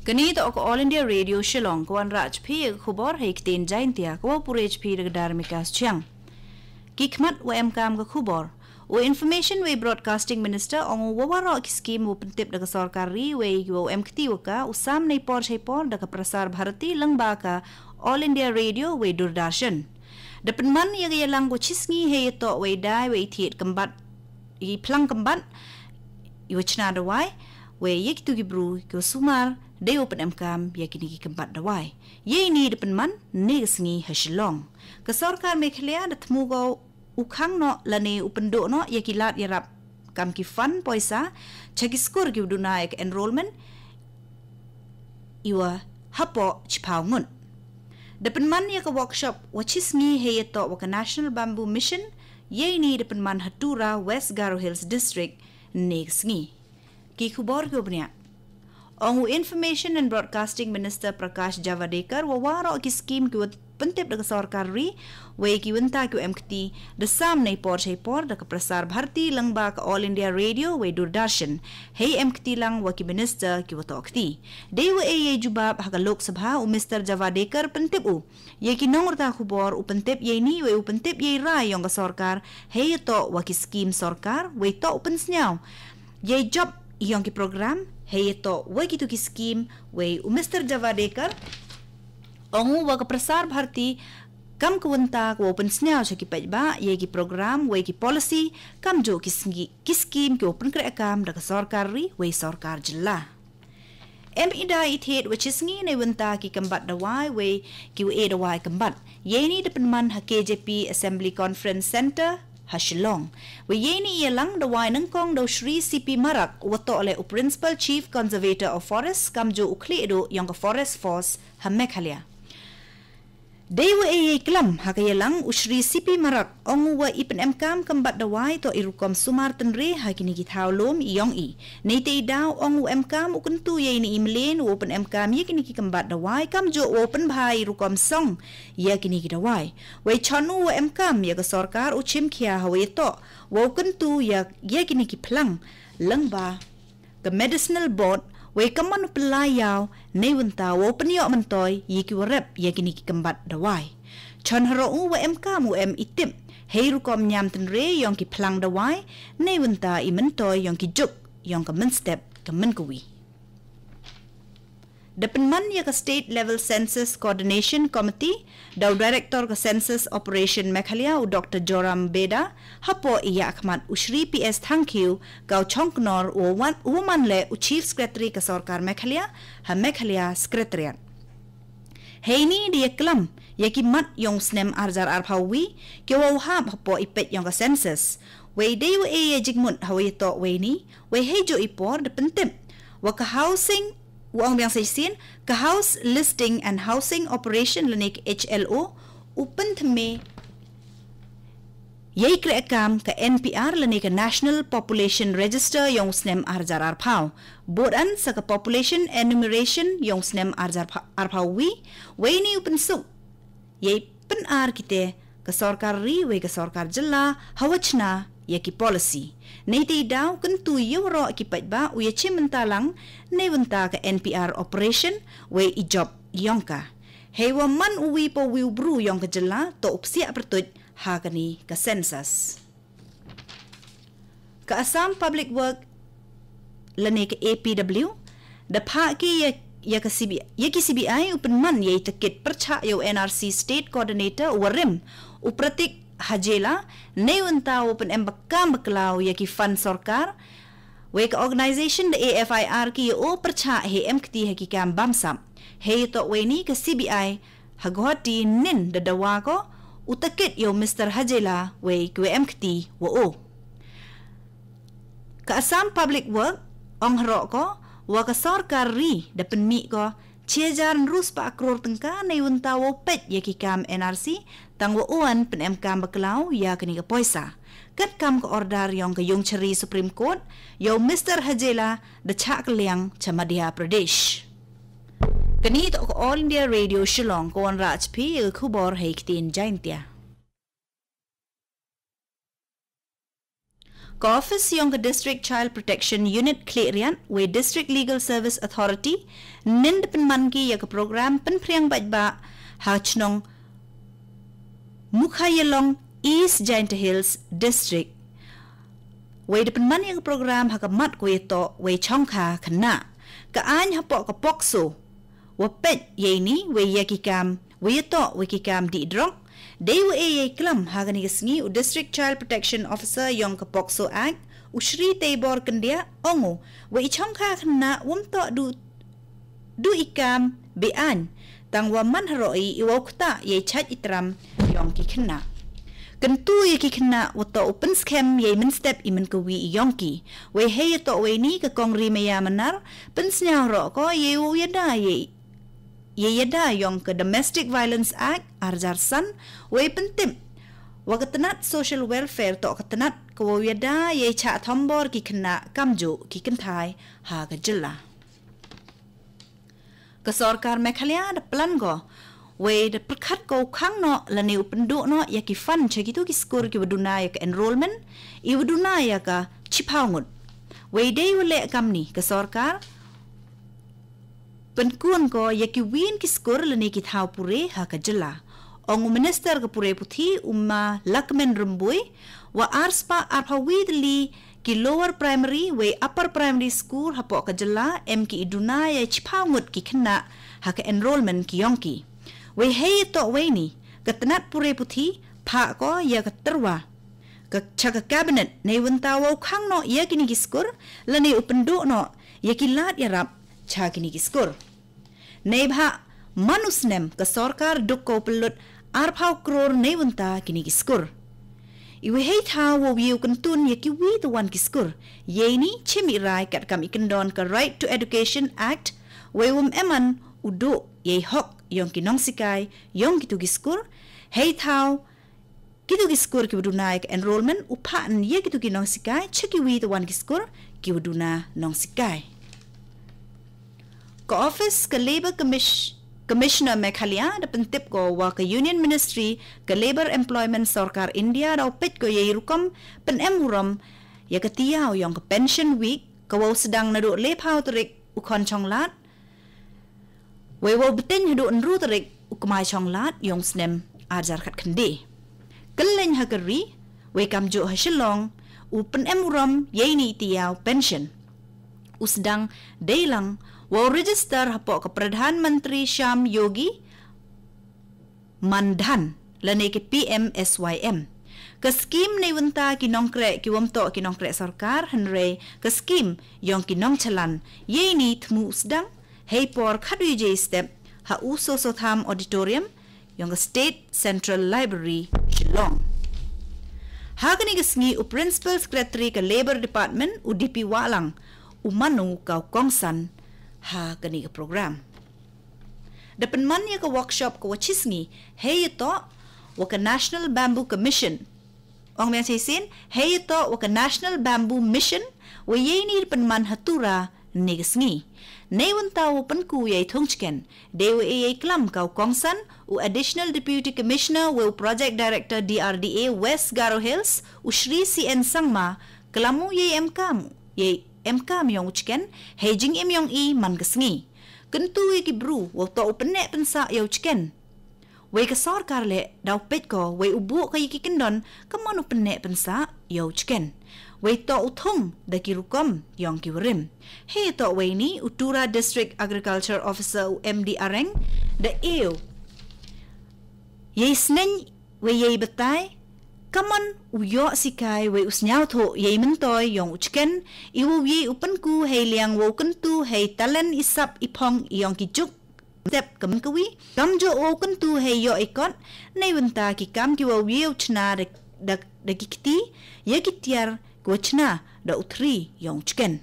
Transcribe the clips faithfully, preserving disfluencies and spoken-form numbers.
Kane toh ka All India Radio Shillong, ka wanrah jpi ka khubor ha i ktien Jaintia, ka wa pure jpi da ka Darmika Chiang. Ki khmat wa em kam ka khubor. U Information wei Broadcasting Minister ong u wa waroh ki skim u pyntip da ka sorkar ri wei ki wa em kti wa ka u sam nei por shei por da ka Prasar Bharati lyngba ka All India Radio wei Doordarshan. Da pynman ya ka yalang ko chisngi hei ya toh wei dai wei thiet kembat i plang kembat i wa chna da wai wei ya ki tu ki bru ki wa sumar dei wa pynem kam ya ki ni ki kembat da wai. Yei ni da pynman ne ka sngi ha Shillong. Ka sorkar Meghalaya da thmu ko u khang noh lane u pynduh noh ya ki lad yarap kam ki fund poisa cha ki skur ki u duna ya ka enrollment i wa hapoh chiphaw ngut. Da pynman ya ka workshop wa chisngi hei ya toh wa ka National Bamboo Mission yei ni da pynman ha Tura, West Garo Hills District ne ka sngi. Ki khubor ki wa bniah. Ong u Information and Broadcasting Minister Prakash Javadekar wa waroh ki skim ki wa pyntip da ka sorkar ri wei ki wynta ki wa em kti da sam nei por shei por da ka Prasar Bharati lyngba ka All India Radio wei Doordarshan. Hei em kti lang wa ki minister ki wa toh kti. Dei wa ei yei jubab ha ka Lok Sabha u Mister Javadekar pyntip u ya ki nongrta khubor u pyntip yei ni wei u pyntip yei rai yong ka sorkar hei ya toh wa ki skim sorkar wei toh u pynsnyaw yei jop yong ki program hei ya toh wa ki tu ki skim wei u Mister Javadekar ong u wa ka Prasar Bharati kam ka wynta ka wa pynsnyaw cha ki paidbah yei ki program wei ki policy kam ju ki sngi ki skim ki wa pynkreh kam da ka sorkar ri wei sorkar jylla. Em i dai i thiet wa chisngi nei wynta ki kembat da wai wei ki wa e da wai kembat. Yei ni da pynman ha K J P Assembly Conference Center ha Shillong. Wei yei ni ya lang da wai nangkong da u Shri C P Marak wa toh le u Principal Chief Conservator of Forest kam ju u khlieh du yong ka Forest Force ha Meghalaya. Dei wa ei yei klam ha ka yalang u Shri C P Marak ong u wa i pynem kam kembat da wai toh i rukom sumar tynre ha ki ni ki thaw lum i yong i. Nei te i daw ong u em kam u kyntu yei ni i mlen u pynem kam ya ki ni ki kembat da wai kam ju u pynbha i rukom song ya ki ni ki da wai. Wei chon u wa em kam ya ka sorkar u chim khia ha wei toh wa u kyntu ya ya ki ni ki phlang lyngba ka medicinal board wei ka man u pynlai yaw nei wynta wa u pynyoh myntoi ya ki wa rep ya ki ni ki kembat da wai. Chon haroh u wa em kam u em i tip hei rukom nyam tynre yong ki phlang da wai nei wynta i myntoi yong ki juk yong ka mynstep ka mynkawi. Da pynman ya ka State Level Census Coordination Committee da u Director ka Census Operation Meghalaya u Doctor Joram Beda hapoh i ya khmat u Shri P S Thangkhiew ka u chongknor u wan u man le u Chief Secretary ka sorkar Meghalaya ha Meghalaya Secretariat. Hei ni da ya klam ya ki mat yong snem arjar arphaw wi ki wa u hap hapoh i peit yong ka census. Wei dei wa e ya jingmut ha wei toh wei ni wei hei jo i por da pyntip wa ka housing u ong biang sa sien ka House Listing and Housing Operation lane ka H L O u pynthymme yei kreh kam ka N P R lane ka National Population Register yong snem arjar arphaw. Bud an sa ka Population Enumeration yong snem arjar arphaw wi wei ni u pynsuk yei pynar kite ka sorkar ri wei ka sorkar jylla ha wa chna ya ki policy. Nei te i daw kyntu ya waroh ki paidbah u ya chim mynta lang nei wynta ka N P R operation wei i jop yong ka. Hei wa man u wi pa wi u bru yong ka jylla toh u psiah pyrtuit ha ka ni ka census. Ka Assam Public Work lane ka A P W da phah ki ya, ya ka C B I, ya ki C B I u pynman ya i takit pyrchah ya u N R C State Coordinator u warim u Pratik Hajela nei wynta u pynem bakam baklaw ya ki fund sorkar. Wei ka organization da A F I R ki ya u pyrchah he em kti ha ki kam bamsap. Hei toh wei ni ka C B I ha Guwahati nin da dawa ko u takit ya u Mister Hajela wei ki wa em kti wa u. Ka Assam Public Work ong haroh ko wa ka sorkar ri da pynmih ko chi hajar hynru spah kror tyngka nei wynta wa u peit ya ki kam N R C tang wa u an pynem kam baklaw ya ka ni ka poisa. Kat kam ka order yong ka yung chari Supreme Court ya u Mister Hajela da chah kylliang cha Madhya Pradesh. Kani toh ka All India Radio Shillong ka wanrah chphi ya ka khubor ha i ktien Jaintia. Ka office yong ka District Child Protection Unit Khliehriat wei District Legal Service Authority nin da pynman ki ya ka program pynphriang paidbah ha chnong Mukhayalong, East Jaintia Hills District. Wei da pynman ya ka program ha ka mat ko ya toh wei chongkha khynnah. Ka aiñ hapoh ka POCSO wa peit ya ini wei ya ki kam, wei ya toh wei ki kam dih drok. Dei wa e ya i klam ha kani ka sngi u District Child Protection Officer yong ka POCSO Act, u Shri Teibor Kyndiah, ong u wei i chongkha khynnah wam toh du du i kam be-aiñ, tang wa man haroh i i wow ktah ya i chait i tram yong ki khynnah. Kyntu ya ki khynnah wa toh u pynskhem ya i mynstep i mynkawi i yong ki. Wei hei ya toh wei ni ka kong Ri Maya Manar pynsnyaw roh ko ya i wow yada ya i ya yada yong ka Domestic Violence Act arjar san, wei pyntip wa ka tnat Social Welfare toh ka tnat ka wow yada ya i chah thombor ki khynnah kamjuh ki kynthai ha ka jylla. Ka sorkar Meghalaya da plan ko wei da pyrkhat ko u khang noh lane u pynduh noh ya ki fund cha kitu ki skur ki wa duna ya ka enrollment, i wa duna ya ka chiphaw ngut. Wei dei wa leh kamni ka sorkar pynkun ko ya ki win ki skur lane ki thaw pure ha ka jylla. Ong u Minister ka pure puthi u Ma Lahkmen Rymbui, wa arspah arphaw wi tylli ki lower primary wei upper primary school hapoh ka jylla em ki i duna ya chiphaw ngut ki khynnah ha ka enrollment ki yong ki. Wei hei ya toh wei ni ka tnat pure puthi phah ko ya ka tyrwa ka cha ka cabinet nei wynta wow khang noh ya kini ki skur lane u pynduh noh ya ki lad yarap cha kini ki skur. Neibhah man u snem ka sorkar duk ko pynlut arphaw kror nei wynta kini ki skur. I wei hei thaw wow yoh kyntun ya ki wi tawan ki skur. Yei ni chim i rai kat kam i kyndon ka Right to Education Act, wei wam eman u duh ya i hok yong ki nongsikai yong kitu ki skur. Hei thaw kitu ki skur ki wa duna ya ka enrollment u phah ya kitu ki nongsikai cha ki wi tawan ki skur ki wa duna nongsikai. Ka office ka Labour Commis- Commissioner Meghalaya da pyntip ko wa ka Union Ministry ka Labour Employment Sorkar India da u peit ko ya i rukom pynem urom ya ka tiaw yong ka Pension Week ka wow sdang naduh lephaw tarik u Khonchonglad wei wow bteng haduh ynru tarik u Kmaichonglad yong snem arjar khat khyndai. Kylleng ha ka ri wei kamjuh ha Shillong u pynem urom yei ni i tiaw pension u sdang dei lang wow register hapoh ka Pradhan Mantri Shram Yogi Mandhan lane ki P M S Y M. Ka skim nei wynta ki nongkreh ki wam toh ki nongkreh sorkar hynrei ka skim yong ki nongchalan yei ni thmu u sdang hei por khatwi jei step ha u Sosotham Auditorium yong ka State Central Library Shillong. Ha kani ka sngi u Principal Secretary ka Labour Department u D P Wahlang u man u ka u kongsan ha kani ka program. Da pynman ya ka workshop ka wa chi sngi hei ya toh wa ka National Bamboo Commission. Ong meng chi sin hei ya toh wa ka National Bamboo Mission wa yei ni da pynman ha Tura ni ka sngi. Nei wynta wa pynku ya i thung chicken dei wa e ya i klam ka u kongsan u Additional Deputy Commissioner wa u Project Director D R D A West Garo Hills u Shri C N Sangma klam u ya i em kam ya i em kam yong u chicken hei jingim yong i man ka sngi. Kyntu ya ki bru wa toh u pynneh pynsah ya u chicken. Wei ka sorkar leh da u peit ko wei u buh ka ya ki kyndon ka man u pynneh pynsah ya u chicken. Wei toh u thung da ki rukom yong ki warim. Hei toh wei ni u Tura District Agriculture Officer u M D Areng da e u ya i sneng wei ya i batai ka man u yoh sikai wei u sniaw thoh ya i myntoi yong u chicken i wow ya i u pynku hei liang wow kyntu hei talen i sap i phong yong ki juk step ka man ka wi kamjuh wow kyntu hei yoh i kot nei wynta ki kam ki wow ya i u chna da, da, da ki kti ya ki tiar ki wa chna da u thri yong u chicken.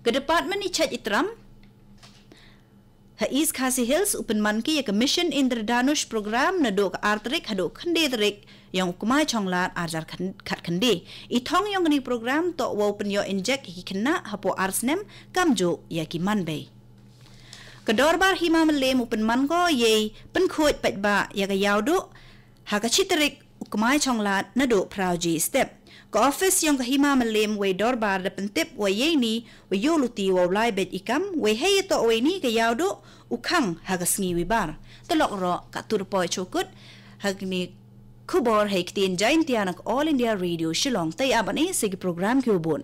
Ka department i chait i tram ha East Khasi Hills u pynman ki ya ka Mission Indradhanush program naduh ka ar tarik haduh khyndai tarik yong u Kmaichonglad arjar khat khyndai. I thong yong kani program toh wow pynyoh injek ya ki khynnah hapoh ar snem kamjuh ya ki man bei. Ka dorbar hima Mylliem u pynman ko ya i pynkhuid paidbah ya ka yaw duh ha ka chi tarik Kmai Chonglad naduh Praoji Step. Ka office yong ka Hima Malem wei dorbar da pyntip wa yei ni wa yoh luti wa u lai bej i kam wei hei ito wei ni ka yau duh u khang ha ka sngi wi bar. Talok ro ka tur poi chukut ha kni khubor hei ktien Jaintia na ka All India Radio Shillong. Tai aban e se ki program ki ubun.